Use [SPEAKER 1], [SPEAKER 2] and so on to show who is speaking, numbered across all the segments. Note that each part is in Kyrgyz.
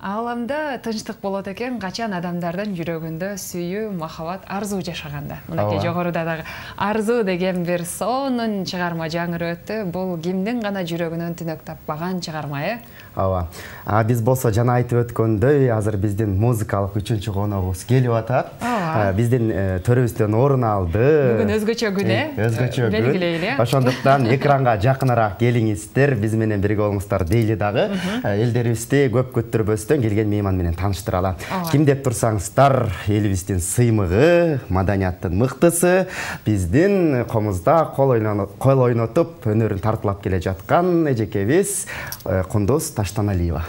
[SPEAKER 1] Ааламда тынчтык болот экен, качан адамдардын жүрөгүндө сүйүү, махабат, арзуу жашаганда. Мынакей жогоруда дагы арзуу деген бир сонун чыгарма жаңырып өттү. Бул кимдин гана жүрөгүнөн түнөк таппаган чыгарма,
[SPEAKER 2] Ооба. Биз болсо жана айтып өткөндөй, азыр биздин музыкалык 3-чү коногубуз келип атат. Биздин төрүбүздөн орун алды.
[SPEAKER 1] Бүгүн өзгөчө күн,
[SPEAKER 2] Өзгөчө күн.
[SPEAKER 1] Белгилейли.
[SPEAKER 2] Ошондуктан экранга жакыныраак келиңиздер, биз менен бирге болуңуздар дейли дагы. Элдерибизди көп күттүрбөстөн келген мейман менен тааныштыралы. Ким деп турсаңыздар, элибиздин сыймыгы, маданияттын мыктысы, биздин комузда кол ойнотуп, өнөрүн тартуулап келе жаткан эжекебиз Кундуз Таштаналиева.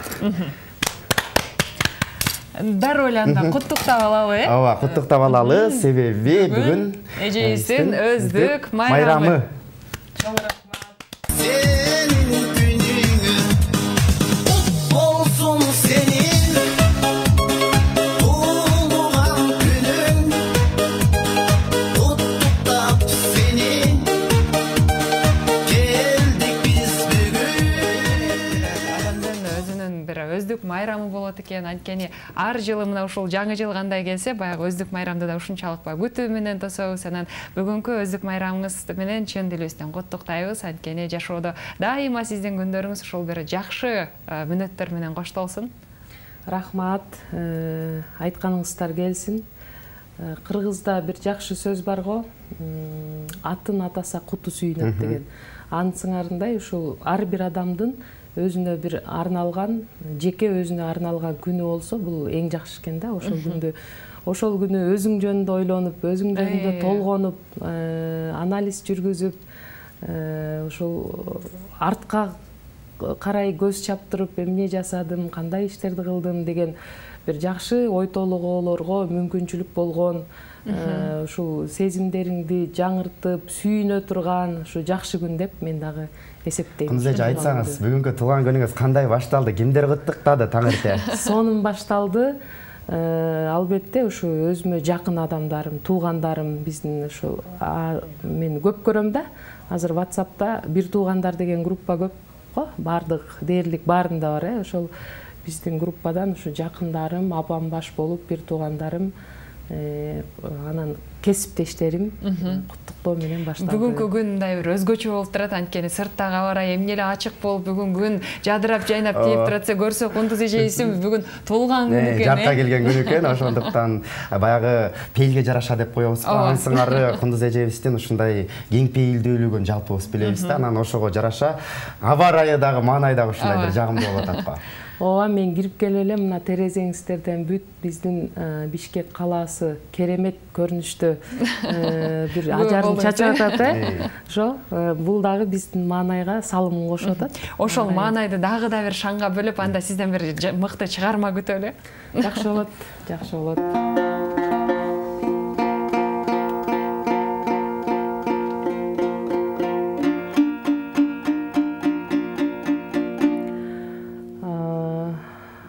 [SPEAKER 1] Дароо эле анда куттуктап алалы,
[SPEAKER 2] Ооба, куттуктап алалы, себеби бүгүн
[SPEAKER 1] эжебиздин өздүк майрамы. Өздүк майрамы болот экен, анткени ар жылы мына ушул жаңы жыл кандай келсе, баягы өздүк майрамды да ушунчалык күтүү менен тособуз. Анан бүгүнкү өздүк майрамыңыз менен чын дилибизден куттуктайбыз. Анткени жашоодо дайыма сиздин күндөрүңүз ушул бир жакшы мүнөттөр менен коштолсун.
[SPEAKER 3] Рахмат, айтканыңыздар келсин. Кыргызда бир жакшы сөз бар го, атын атаса куту сүйүнөт деген. Анысыңарындай ушул ар бир адамдын өзүнө бир арналган, жеке өзүнө арналган күнү болсо, бул эң жакшы экен да. Ошол күнү өзүң жөнүндө ойлонуп, өзүң жөнүндө толгонуп, анализ жүргүзүп, ушул артка карай көз чаптырып, эмне жасадым, кандай иштерди кылдым деген бир жакшы ой толгоолорго мүмкүнчүлүк болгон, ушул сезимдериңди жаңыртып, сүйүнө турган ушу жакшы күн деп мен дагы эсептейм.
[SPEAKER 2] Кундуз эже, айтсаңыз, бүгүнкү туулган күнүңүз кандай башталды? Кимдер куттуктады таң эрте?
[SPEAKER 3] Сонун башталды. Албетте ушу өзүмө жакын адамдарым, туугандарым, биздин ушу мен көп көрөм да. Азыр WhatsApp'та бир туугандар деген группа көп го, бардык дээрлик баарында бар, ошол биздин группадан ушу жакындарым, апам баш болуп бир туугандарым, анан кесиптештерим куттуктоо менен башталды.
[SPEAKER 1] Бүгүнкү күн мындай бир өзгөчө болуп турат, анткени сырттагы аба ырайы эмне эле ачык болуп, бүгүн күн жадырап жайнап тийип туратса, көрсө Кундуз эжебиздин бүгүн туулган күнү экен.
[SPEAKER 2] Жарка келген күнү экен, ошондуктан баягы пейилге жараша деп коебуз. Ансыңары Кундуз эжебиздин ушундай кең пейилдүүлүгүн жалпыбыз билебиз да, анан ошого жараша аба ырайы дагы, маанай дагы ушундай бир жагымдуу болуп атат го.
[SPEAKER 3] Ооба, мен кирип келе элем, мына терезеңиздерден бүт биздин Бишкек калаасы керемет көрүнүштө бир ажарын чачып атат, ошо бул дагы биздин маанайга салымын кошуп атат.
[SPEAKER 1] Ошол маанайды дагы да бир шаңга бөлүп, анда сизден бир мыкты чыгарма күтөлү.
[SPEAKER 3] Жакшы болот, жакшы болот.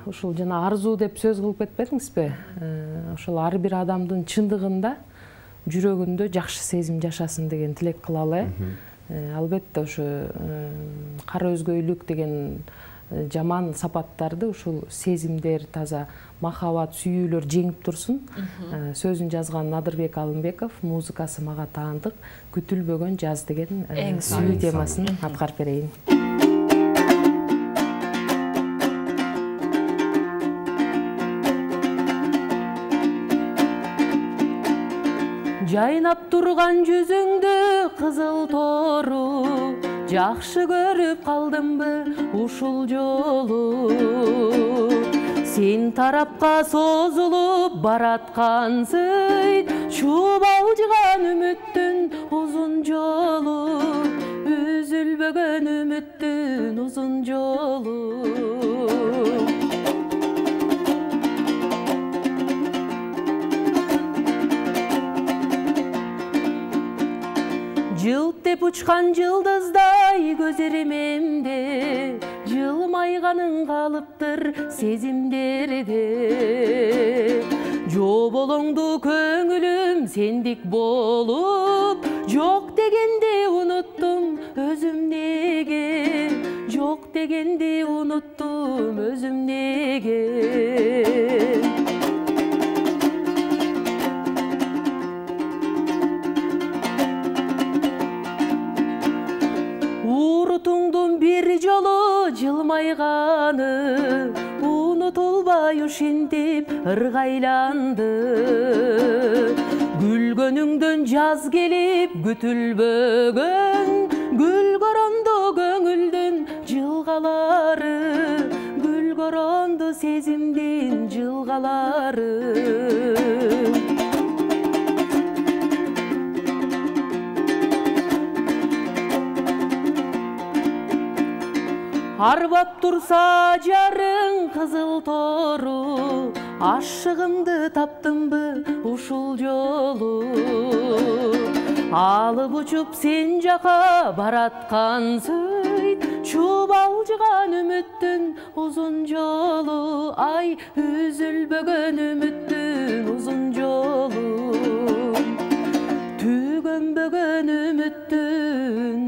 [SPEAKER 3] Ушул жана арзуу деп сөз кылып кетпедиңизби? Ошол ар бир адамдын чындыгында жүрөгүндө жакшы сезим жашасын деген тилек кылалы. Албетте ошо кара өзгөйлүк деген жаман сапаттарды ушул сезимдер, таза махабат, сүйүүлөр жеңип турсун. Сөзүн жазган Надырбек Алымбеков, музыкасы мага таандык. Күтүлбөгөн жаз деген сүйүү темасын аткарып берейин. Жайнап турган жүзүңдү кызыл тору, жакшы көрүп калдымбы ушул жолу? Сен тарапка созулуп бараткансың, чубалжыган үмүттүн узун жолу, үзүлбөгөн үмүттүн узун жолу. Жылт деп учкан жылдыздай көзеремемде, жылмайганың калыптыр сезимдерде. Жоболоңду көңүлүм сендик болуп, жок дегенде уnuttум өзүм неге, жок жок дегенди унуттум өзүм неге. Урутуңдун бир жолу жылмайганы унутулбай ушинтип ыргайланды. Күлгөнүңдөн жаз келип күтүлбөгөн, гүл коронду көңүлдүн жылгалары, гүл коронду сезимдин жылгалары. Арбап турса жарың кызыл тору, ашыгымды таптымбы ушул жолу. Алып учуп сен жака бараткан сөйт, чубалжыган үмүттүн узун жолу. Ай, үзүлбөгөн үмүттүн узун жолу, түгөнбөгөн үмүттүн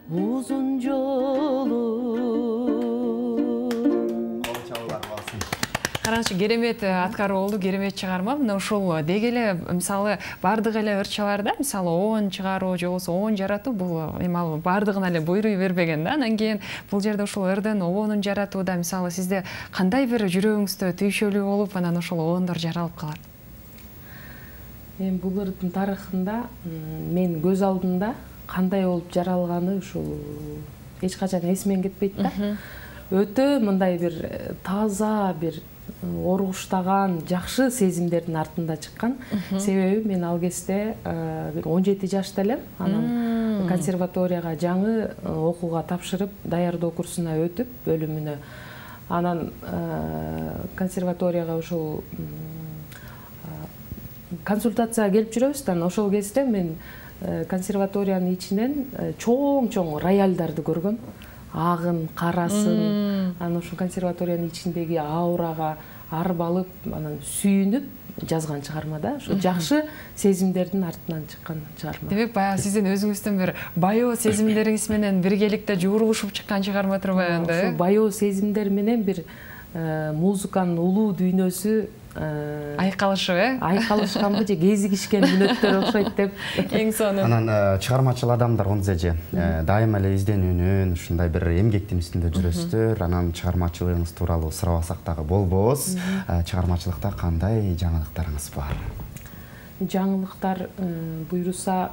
[SPEAKER 3] узун жолу.
[SPEAKER 1] Караңчы, керемет аткаруу болду, керемет чыгарма. Мына ушул деги эле мисалы бардык эле ырчаларда мисалы оон чыгаруу же болбосо оон жаратуу бул эми бардыгына эле буйруй бербеген да. Анан кийин бул жерде ушул ырдын оонун жаратууда мисалы сизде кандай бир жүрөгүңүздө түйшөлүү болуп анан ошол оондор жаралып калат?
[SPEAKER 3] Эми бул ырдын тарыхында мен көз алдымда кандай болуп жаралганы ушул эч качан эсимен кетпейт да. Өтө мындай бир таза, бир оргуштаган, жакшы сезимдердин артында чыккан. Себеби мен ал кезде бир 17 жашта элем. Анан консерваторияга жаңы окууга тапшырып, даярдоо курсуна өтүп, бөлүмүнө. Анан консерваторияга ушул консультацияга келип жүрөбүз да. Ошол кезде мен консерваториянын ичинен чоң-чоң роялдарды көргөм. Агын, карасын, анан ушул консерваториянын ичиндеги аурага арбалып, анан сүйүнүп жазган чыгарма да. Ошо жакшы сезимдердин артынан чыккан чыгарма.
[SPEAKER 1] Демек, баягы сиздин өзүңүздүн бир баяоо сезимдериңиз менен биргеликте жуурулушуп чыккан чыгарма турбайбы анда?
[SPEAKER 3] Ошол баяоо сезимдер менен бир музыканын улуу дүйнөсү
[SPEAKER 1] айкалышып,
[SPEAKER 3] айкалышканбы же кезигишкен мүнөттөр окшойт деп.
[SPEAKER 1] Эң сонун.
[SPEAKER 2] Анан чыгармачыл адамдар же дайыма эле изденүүнүн, ушундай бир эмгектин үстүндө жүрөсүздөр. Анан чыгармачылыгыңыз тууралуу сурабасак дагы болбос. Чыгармачылыкта кандай жаңылыктарыңыз бар?
[SPEAKER 3] Жаңылыктар буйруса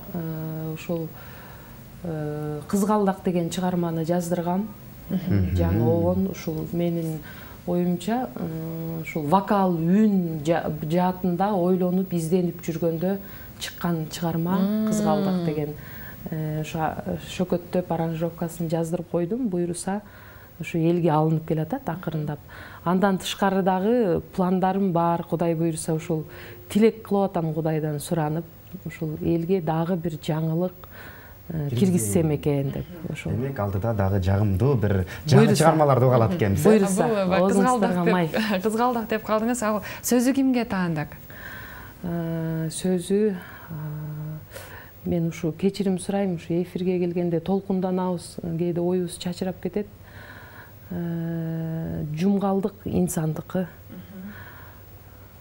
[SPEAKER 3] ошол Кызгалдак деген чыгарманы жаздыргам. Жаңы оон ушул менин оюмча ушул вокал, үн жаатында ойлонуп, изденип жүргөндө чыккан чыгарма Кызгалдак деген. Шөкөттөп аранжировкасын жаздырып койдум. Буйруса ушу элге алынып келатат акырындап. Андан тышкары дагы пландарым бар. Кудай буйруса ушул тилек кылып атам Кудайдан суранып, ушул элге дагы бир жаңылык киргизсем экен деп. Ошол.
[SPEAKER 2] Демек, алдыда дагы жагымдуу бир жаңы чыгармаларды угалат экенбиз.
[SPEAKER 3] Буйруса,
[SPEAKER 1] Кызгалдак деп калдыңыз. Ал сөзү кимге таандык?
[SPEAKER 3] Сөзү мен ушу кечирим сурайм, ушу эфирге келгенде толкунданабыз, кээде оюбуз чачырап кетет. Жумгалдык инсандыкы.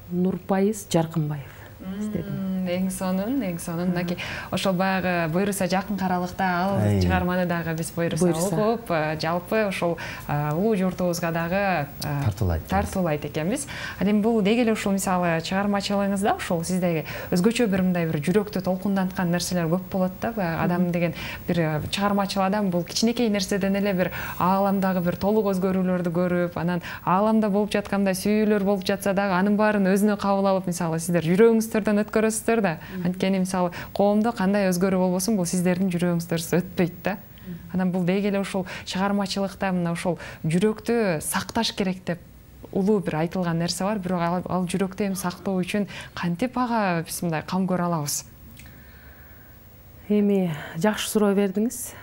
[SPEAKER 3] Нурпайыз Жаркынбаев.
[SPEAKER 1] Эң сонун, эң сонун. Мынакей ошол баягы буйруса жакын каралыкта ал чыгарманы дагы биз буйруса окуп, жалпы ошол улуу журтубузга дагы тартуулайт экенбиз. Анан бул деги эле ушул мисалы чыгармачылыгыңызда ошол сиздеги өзгөчө бир мындай бир жүрөктү толкунданткан нерселер көп болот да. Адам деген бир чыгармачыл адам бул кичинекей нерседен эле бир ааламдагы бир толук өзгөрүүлөрдү көрүп, анан ааламда болуп жаткандай сүйүүлөр болуп жатса дагы анын баарын өзүнө кабыл алып, мисалы сиздер жүрөгүңүздөрдөн өткөрөсүздөр да. Анткени мисалы коомдо кандай өзгөрүү болбосун, бул сиздердин жүрөгүңүздөрсүз өтпөйт да. Анан бул деги эле ушул чыгармачылыкта мына ушул жүрөктү сакташ керек деп улуу бир айтылган нерсе бар, бирок ал жүрөктү эми сактоо үчүн кантип ага биз мындай кам көрө алабыз?
[SPEAKER 3] Эми жакшы суроо бердиңиз.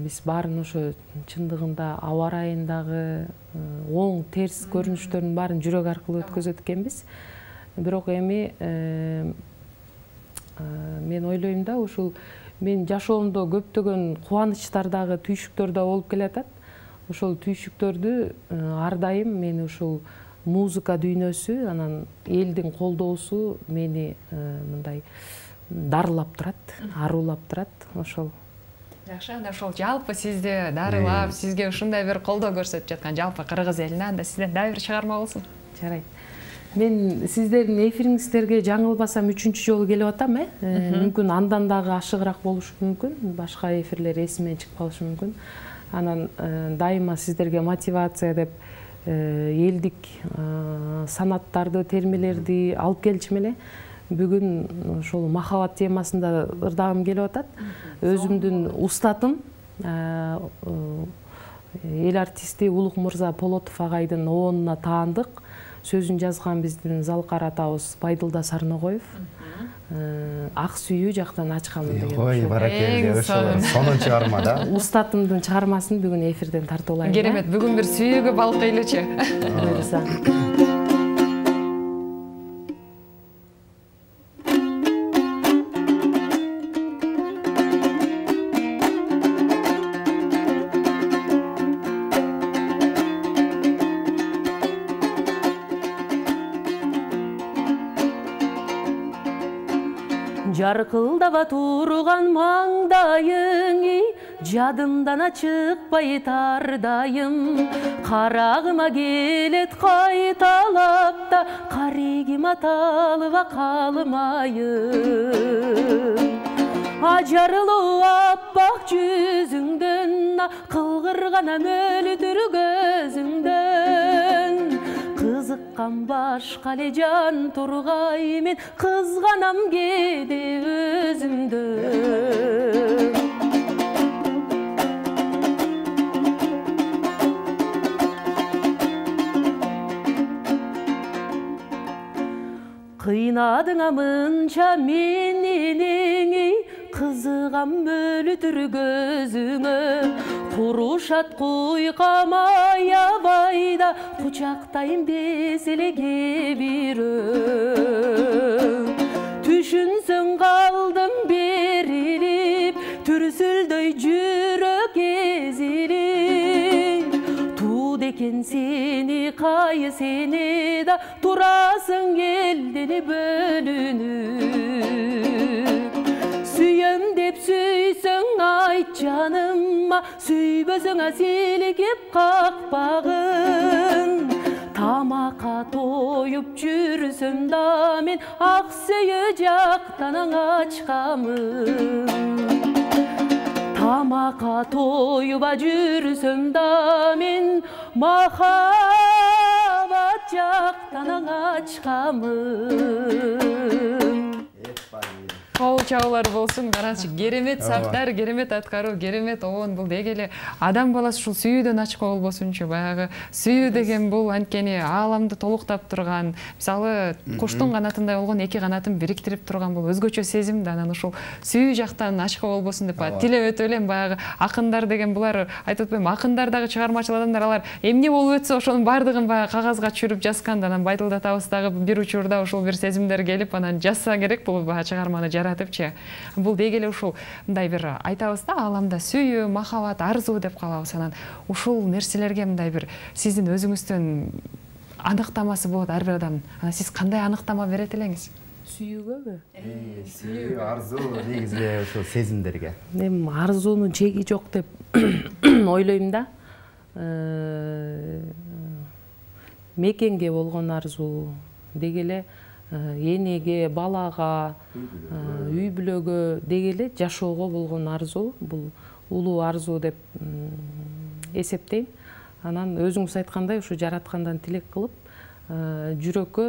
[SPEAKER 3] Биз баарын ошо чындыгында аба ырайындагы оң терс көрүнүштөрдүн баарын жүрөк аркылуу өткөзөт экенбиз. Бирок эми мен ойлойм да, ушул мен жашоомдо көптөгөн кубанычтар дагы, түйшүктөр да болуп келатат. ошол түйшүктөрдү ар дайым мени ушул музыка дүйнөсү, анан элдин колдоосу мени мындай дарылап турат, арулап турат. Ошол
[SPEAKER 1] жакшы. Анда ошол жалпы сизди дарылап, сизге ушундай бир колдоо көрсөтүп жаткан жалпы кыргыз элине анда сизден дагы бир чыгарма болсун.
[SPEAKER 3] Жарайт. Мен сиздердин эфириңиздерге жаңылбасам 3-чү жолу келип атам, мүмкүн андан дагы ашыгыраак болушу мүмкүн, башка эфирлер эсимден чыгып калышы мүмкүн. Анан дайыма сиздерге мотивация деп элдик санаттарды, термелерди алып келчү эле. Бүгүн ошол махабат темасында ырдагым келип атат. Өзүмдүн устатым, эл артисти Улук мырза Полотов агайдын оонуна таандык. Сөзүн жазган биздин Залкар атабыз Байдылда Сарногоев. Ак сүйүү жактан ачкамын деген.
[SPEAKER 2] Ой, баракелде, ошол сонун чыгарма да.
[SPEAKER 3] Устатымдын чыгармасын бүгүн эфирден тартып алайын.
[SPEAKER 1] Керемет, бүгүн бир сүйүүгө балкыйлычы.
[SPEAKER 3] Буюрса. Жаркылдаба турган маңдайың, жадымдан чыкпай тардайым. Карагыма келет кайталап да, карегим аталыба калмайым. Ажарлуу аппак жүзүңдөн, кылгырганам өлтүр көзүңдөн. Кызыккан башка эле жан тургай, мен кызганам кээде өзүмдөн. Кыйнадыңа мынча менени, кызыгам өлтүр көзүңө. Курушат куйкам аябайда, кучактайын безелеге бирөө. Түшүнсөң калдым берилип, түрсүлдөй жүрөк эзилип. Тууд экен сени кайы сени да, турасың элдени бөлүнүп. Сүйөм деп сүйсөң айт жаныма, сүйбөсөң силкип какпагын. Тамакка тоюп жүрсөм да мен, ак сүйүү жактан ачкамын. Тамакка тоюп жүрсөм да мен, махабат жактан ачкамын.
[SPEAKER 1] Кол чабуулар болсун, карачы, керемет саптар, керемет аткаруу, керемет оон. Бул деги эле адам баласы ушул сүйүүдөн ачка болбосунчу, баягы сүйүү деген бул анткени ааламды толуктап турган, мисалы куштун канатындай болгон эки канатын бириктирип турган бул өзгөчө сезим да. Анан ушул сүйүү жактан ачка болбосун деп тилеп өтүп элем. Баягы акындар деген булар, айтып атпайм, акындар дагы чыгармачыл адамдар, алар эмне болуп өтсө ошонун баардыгын баягы кагазга түшүрүп жазган да. Анан Байдылда атабыз дагы бир учурда ушул бир сезимдер келип, анан жазса керек бул баягы чыгарманы жаратыпчы. Бул деги эле ушул мындай бир айтабыз да, ааламда сүйүү, махабат, арзуу деп калабыз. Анан ушул нерселерге мындай бир сиздин өзүңүздөн аныктамасы болот ар бир адамдын. Анан сиз кандай аныктама берет элеңиз?
[SPEAKER 3] Сүйүүгөбү?
[SPEAKER 2] Сүйүү, арзуу, негизги ушул сезимдерге.
[SPEAKER 3] Мен арзуунун чеги жок деп ойлойм да. Мекенге болгон арзуу, деги эле энеге, балага, үй бүлөгө деги эле жашоого болгон арзуу, бул улуу арзуу деп эсептейм. Анан өзүңүз айткандай, ушу жараткандан тилек кылып, жүрөккө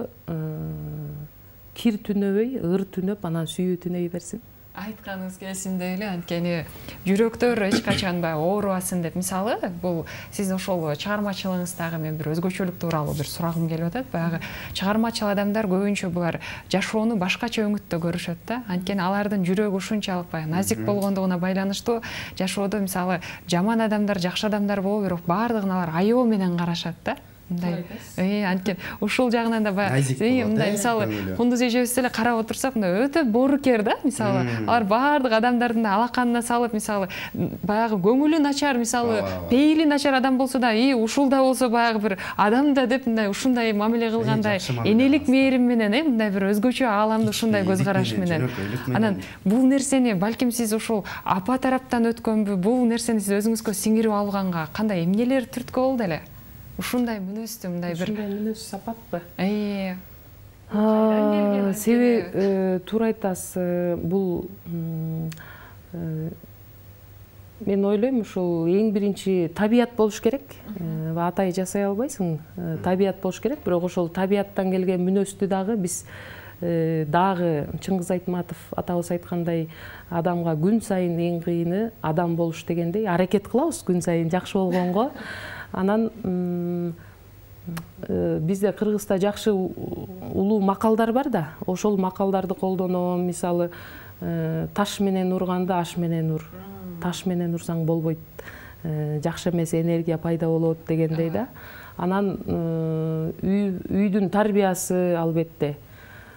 [SPEAKER 3] кир түнөбөй, ыр түнөп, анан сүйүү түнөй берсин.
[SPEAKER 1] Айтканыңыз келсиндей эле, анткени жүрөктөр эч качан оорубасын деп. Мисалы, бул сиз ошол чыгармачылыгыңыздагы мен бир өзгөчөлүк тууралуу бир сурагым келип атат. Баягы чыгармачыл адамдар көбүнчө булар жашоону башкача өңүттө көрүшөт да. Анткени алардын жүрөгү ушунчалык баягы назик болгондугуна байланыштуу. Жашоодо мисалы жаман адамдар, жакшы адамдар боло бирок баардыгын алар аябоо менен карашат да. мындай анткени ушул жагынан да баягы мындай мисалы кундуз эжебиз деле карап отурсак мындай өтө боорукер да, мисалы алар баардык адамдардын алаканына салып, мисалы баягы көңүлү начар, мисалы пейили начар адам болсо да, ушул да болсо баягы бир адам да деп мындай ушундай мамиле кылгандай энелик мээрим менен, мындай бир өзгөчө ааламды ушундай көз караш менен. Анан бул нерсени балким сиз ушул апа тараптан өткөнбү, бул нерсени сиз өзүңүзгө сиңирип алганга кандай эмнелер түрткү болду эле? Ушундай мүнөздү, мындай бир
[SPEAKER 3] мүнөз сапатпы? Себеби туура айтасыз, бул мен ойлойм ушул эң биринчи табият болуш керек. Атай жасай албайсың, табият болуш керек, бирок ошол табияттан келген мүнөздү дагы биз дагы Чыңгыз Айтматов атабыз айткандай адамга күн сайын эң кыйыны адам болуш дегендей аракет кылабыз күн сайын жакшы болгонго. Анан бизде Кыргызда жакшы улуу макалдар бар да, ошол макалдарды колдоном. Мисалы таш менен урганда аш менен ур, таш менен урсаң болбойт, жакшы эмес энергия пайда болот дегендей да. Анан үйдүн тарбиясы албетте,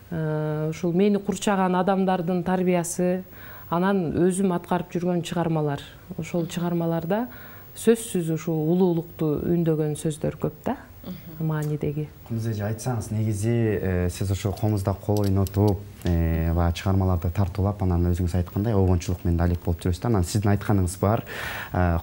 [SPEAKER 3] ушул мени курчаган адамдардын тарбиясы, анан өзүм аткарып жүргөн чыгармалар. Ошол чыгармаларда сөзсүз ушул улуулукту үндөгөн сөздөр көп да, маанидеги.
[SPEAKER 2] Кундуз эже, айтсаңыз, негизи сиз ошо комузда кол ойнотуп, баягы чыгармаларды тартуулап, анан өзүңүз айткандай обончулук менен алек болуп жүрөсүз да. Анан сиздин айтканыңыз бар,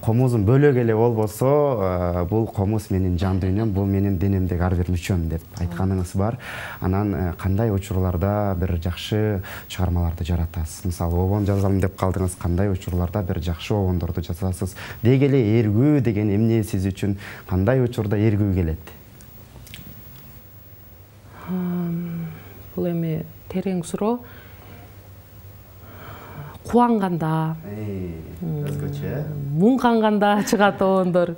[SPEAKER 2] комузум бөлөк эле болбосо, бул комуз менин жан дүйнөм, бул менин денемдеги ар бир мүчөм деп айтканыңыз бар. Анан кандай учурларда бир жакшы чыгармаларды жаратасыз? Мисалы, обон жазам деп калдыңыз, кандай учурларда бир жакшы обондорду жазасыз? Деги эле эргүү деген эмне сиз үчүн, кандай учурда эргүү келет?
[SPEAKER 3] Бул эми терең суроо. Кубанганда,
[SPEAKER 2] өзгөчө,
[SPEAKER 3] муңканганда чыгат обондор.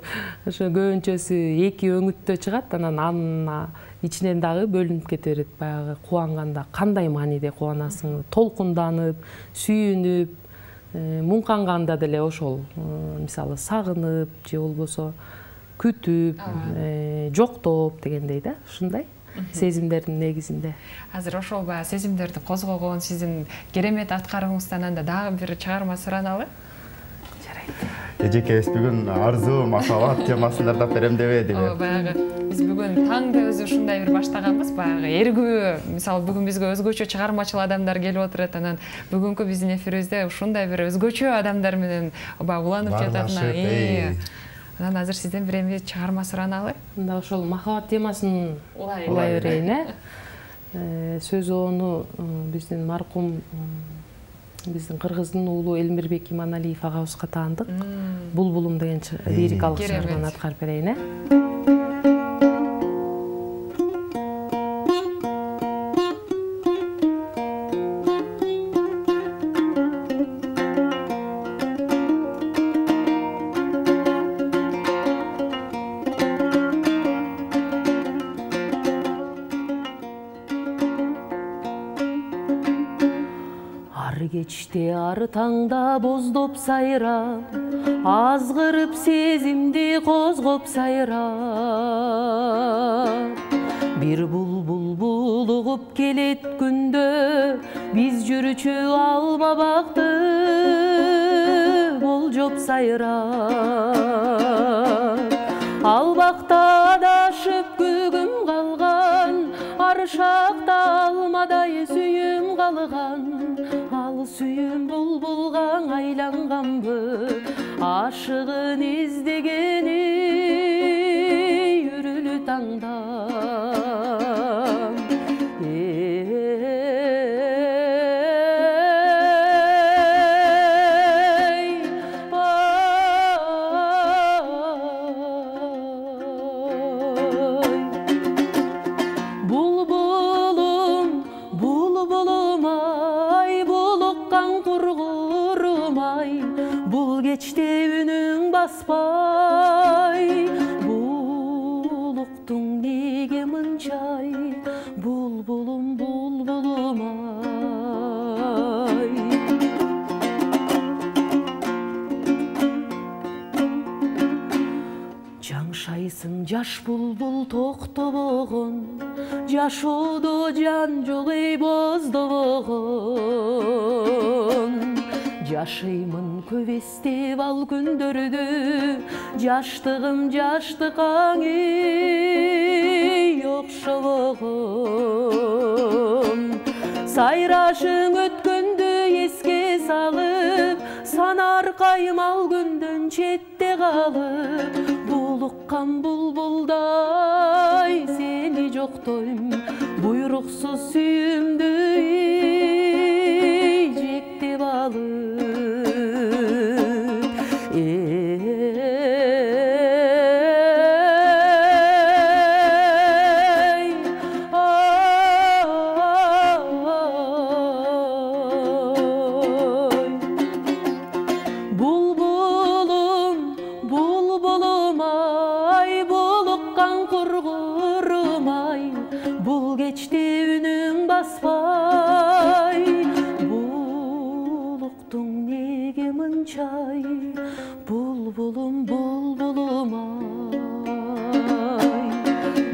[SPEAKER 3] Ошо көбүнчөсү эки өңүттө чыгат, анан ичинен дагы бөлүнүп кете берет. Баягы кубанганда кандай мааниде кубанасың? Толкунданып, сүйүнүп, муңканганда деле ошол, мисалы сагынып же болбосо күтүп, жоктоп дегендей да, ушундай сезимдердин негизинде.
[SPEAKER 1] Азыр ошол баягы сезимдерди козгогон сиздин керемет аткарууңуздан анда дагы бир чыгарма сураналы?
[SPEAKER 3] Жарайт.
[SPEAKER 2] Эжекебиз бүгүн арзуу махабат темасында тап берем дебедиби?
[SPEAKER 1] Баягы биз бүгүн таңды өзү ушундай бир баштаганбыз, баягы эргүү, мисалы бүгүн бизге өзгөчө чыгармачыл адамдар келип отурат, анан бүгүнкү биздин эфирибизде ушундай бир өзгөчө адамдар менен баягы уланып жатат. Анан азыр сизден бир эми чыгарма сураналы?
[SPEAKER 3] Мында ошол махабат темасын улай берейин, Сөз ону биздин маркум биздин Кыргыздын уулу Элмирбек Иманалиев агабызга таандык. Булбулум деген лирикалык чыгарманы аткарып берейин. Кечте ар таңда боздоп сайрап, азгырып сезимди козгоп сайрап. Бир булбул булугуп келет күндө, биз жүрчү алма бакты болжоп сайрап. Ал бакта адашып күгүм калган, ар шакта алмадай сүйүм калган. Сүйүм булбулга айланганбы, ашыгын издегени үрүлү таңда. Кечте үнүң баспай, булуктуң Жаңшайсың жаш булбул токтобогон, жашоодо жан жок эй боздобогон. Жашыймын көп эстеп ал күндөрдү, жаштыгым жаштыкаң эй окшобогон. Сайрашың өткөндү эске салып, санаркайым ал күндөн четте калып. Булуккан булбулдай сени жоктойм, буйруксуз сүйүмдү жектеп алып. Булбулум, булбулум ай,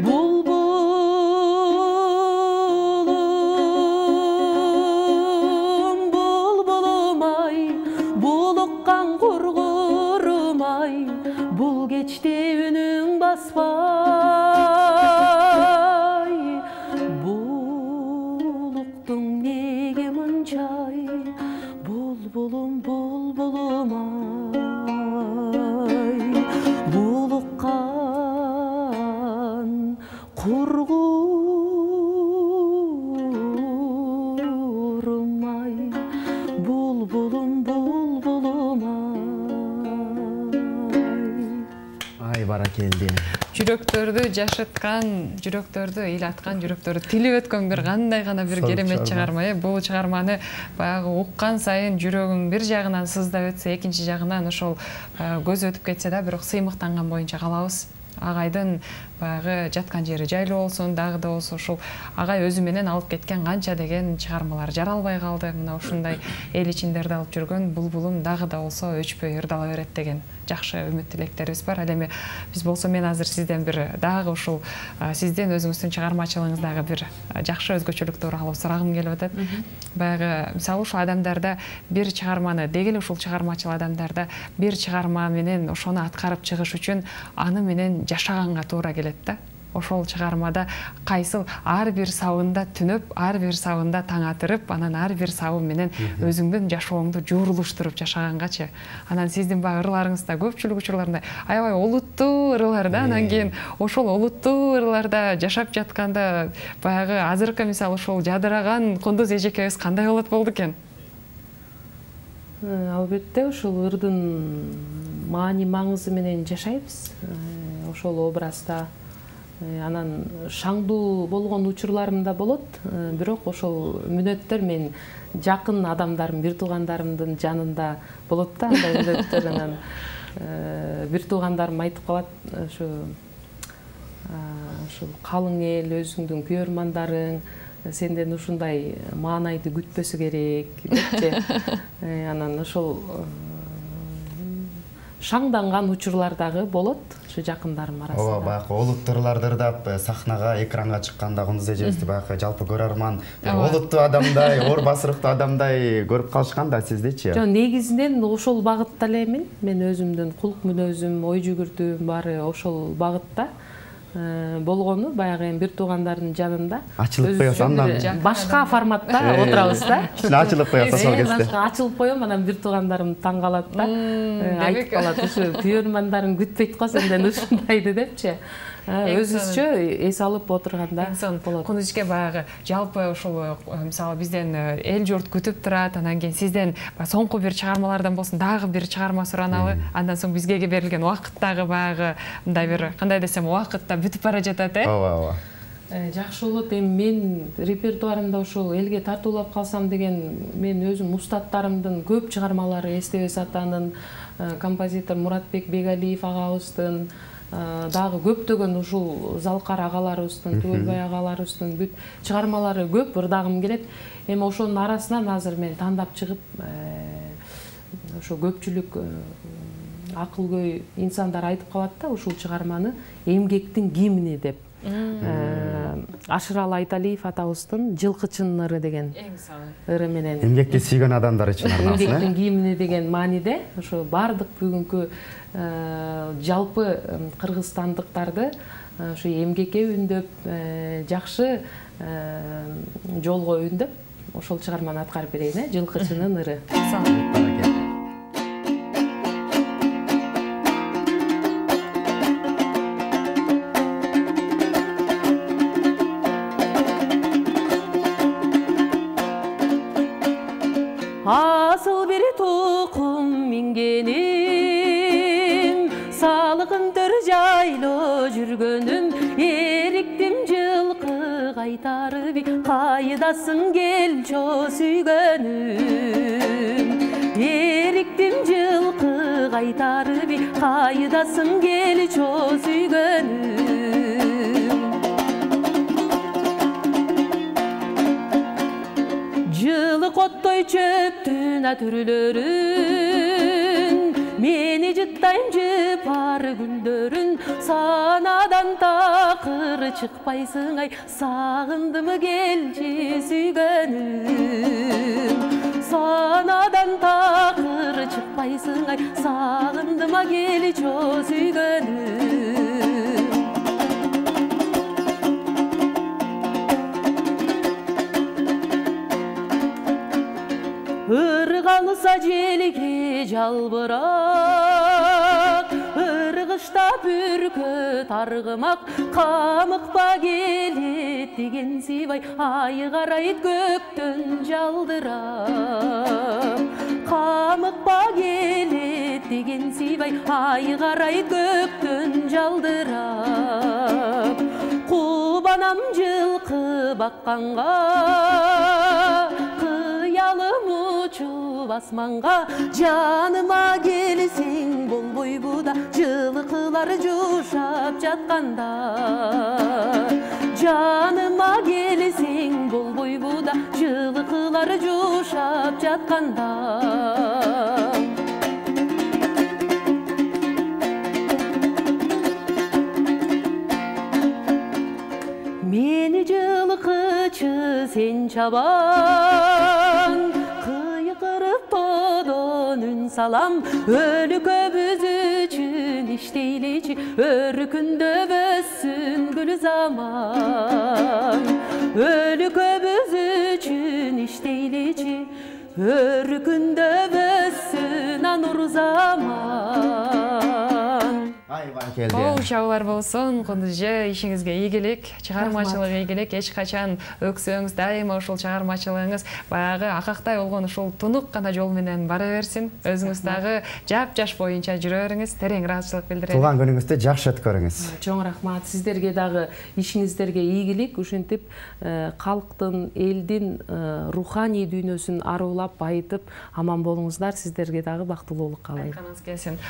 [SPEAKER 3] булбулум, булбулум ай, булуккан кургурум ай, бул кечте үнүң баспай. Булуктуң неге мынчай, булбулум, булбулум ай. Булуккан кургурум ай, булбулум, булбулум
[SPEAKER 2] ай. Ай баракелди.
[SPEAKER 1] Жүрөктөрдү жашыткан, жүрөктөрдү ыйлаткан, жүрөктөрдү тилип өткөн бир кандай гана бир керемет чыгарма. Бул чыгарманы баягы уккан сайын жүрөгүң бир жагынан сыздап өтсө, экинчи жагынан ошол көз өтүп кетсе да, бирок сыймыктанган боюнча калабыз. Агайдын баягы жаткан жери жайлуу болсун, дагы да болсо ушул агай өзү менен алып кеткен канча деген чыгармалар жаралбай калды. Мына ушундай эл ичиндерди алып жүргөн булбулум дагы да болсо өчпөй ырдала берет деген жакшы үмүт тилектерибиз бар. Ал эми биз болсо мен азыр сизден бир дагы ушул сизден өзүңүздүн чыгармачылыгыңыздагы бир жакшы өзгөчөлүк тууралуу сурагым келип атат. Баягы мисалы ушул адамдарда бир чыгарманы, дегеле ушул чыгармачыл адамдарда бир чыгарма менен ошону аткарып чыгыш үчүн аны менен жашаганга туура келет да. Ошол чыгармада кайсыл ар бир сабында түнөп, ар бир сабында таң атырып, анан ар бир сабы менен өзүңдүн жашооңду жуурулуштуруп жашагангачы. Анан сиздин баягы ырларыңызда көпчүлүк учурларында аябай олуттуу ырлар да, анан кийин ошол олуттуу ырларда жашап жатканда баягы азыркы мисалы ошол жадыраган кундуз эжекебиз кандай болот болду экен?
[SPEAKER 3] Албетте ушул ырдын маани маңызы менен жашайбыз. Ошол образда анан шаңдуу болгон учурларым да болот, бирок ошол мүнөттөр мен жакын адамдарым, бир туугандарымдын жанында болот да, андай мүнөттөр. Анан бир туугандарым айтып калат, ушул калың эл, өзүңдүн күйөрмандарың сенден ушундай маанайды күтпөсү керек депчи. Анан ошол шаңданган учурлар дагы болот ушу жакындарым арасында.
[SPEAKER 2] Ооба, баягы олуттурларды ырдап сахнага, экранга чыкканда кундуз эжебизди баягы жалпы көрөрман олуттуу адамдай, оор басырыктуу адамдай көрүп калышкан да, сиздичи?
[SPEAKER 3] Жок, негизинен ошол багытта эле эми. Мен өзүмдүн кулк мүнөзүм, ой жүгүртүүм баары ошол багытта болгону, баягы эми бир туугандардын жанында.
[SPEAKER 2] Ачылып коесуз андан
[SPEAKER 3] башка форматта отурабыз да.
[SPEAKER 2] Кичине ачылып коесуз ошол кезде.
[SPEAKER 3] Башка ачылып коем, анан бир туугандарым таң калат да. Айтып калат, ушу күйөрмандарың күтпөйт го сенден ушундайды депчи. Өзүбүзчө эс алып отурганда болот.
[SPEAKER 1] Кундузке баягы жалпы ушул мисалы бизден эл журт күтүп турат, анан кийин сизден соңку бир чыгармалардан болсун дагы бир чыгарма сураналы, андан соң бизге берилген убакыт дагы баягы мындай бир кандай десем убакыт да бүтүп бара жатат,
[SPEAKER 2] Ооба.
[SPEAKER 3] Жакшы болот. Эми мен репертуарымда ушул элге тартуулап калсам деген мен өзүм устаттарымдын көп чыгармалары Эстебес атанын, композитор Муратбек Бегалиев агабыздын, дагы көптөгөн ушул Залкар агаларыбыздын, Түгөлбай агаларыбыздын бүт чыгармалары көп ырдагым келет. Эми ошонун арасынан азыр мен тандап чыгып ошо көпчүлүк акылгөй инсандар айтып калат да ушул чыгарманы эмгектин гимни деп. Ашыралы Айталиев атабыздын Жылкычынын ыры деген ыры менен
[SPEAKER 2] эмгекти сүйгөн адамдар үчүн арналган.
[SPEAKER 3] Эмгектин гимни деген мааниде ошо бардык бүгүнкү жалпы кыргызстандыктарды ошо эмгекке үндөп, жакшы жолго үндөп ошол чыгарманы аткарып берейин, Жылкычынын ыры. Асыл бир тукум мингеним, салыгын төр жайлоо жүргөнүм, эриктим жылкы кайтарып, кайдасың келчо сүйгөнүм. Эриктим жылкы кайтарып, кайдасың келчо сүйгөнүм. Жылык оттой чөптүн түрлөрүн, мени жыттайм жыпар күндөрүн, санадан такыр чыкпайсың ай, сагындым келчи сүйгөнүм. Санадан такыр чыкпайсың ай, сагындым келчи сүйгөнүм. Irg'alsa jelge жалбырак, ыргышта бүркөт аргымак, камыкпа келет деген сыйбай, ай карайт көктөн жалдырап. Камыкпа келет деген сыйбай, ай карайт көктөн жалдырап. Кубанам жылкы бакканга, кыялым учуп асманга, жаныма келсең болбойбу да, жылкылар жушап жатканда. Жаныма келсең болбойбу да, жылкылар жушап жатканда. Meni жылкычы сен чабан, кыйкырып тодон үн салам, өлкөбүз үчүн иштейличи, өркүндөп өссүн гүл заман. Өлкөбүз үчүн иштейличи, өркүндөп өссүн анур заман.
[SPEAKER 1] Кол чабуулар болсун, Кундузжы, ишиңизге ийгилик, чыгармачылык ийгилик, эч качан өксөңүз, дайыма ушул чыгармачылыгыңыз баягы акактай болгон ушул тунук гана жол менен бара берсин. Өзүңүз дагы жап-жаш боюнча жүрө бериңиз, терең ыраазычылык билдирем.
[SPEAKER 2] Туулган күнүңүздү жакшы өткөрүңүз.
[SPEAKER 3] Чоң рахмат. Сиздерге дагы ишиңиздерге ийгилик, ушинтип калктын, элдин руханий дүйнөсүн арулап, байытып аман болуңуздар. Сиздерге дагы бактылуулук каалайм.
[SPEAKER 1] Айтканыңыз келсин.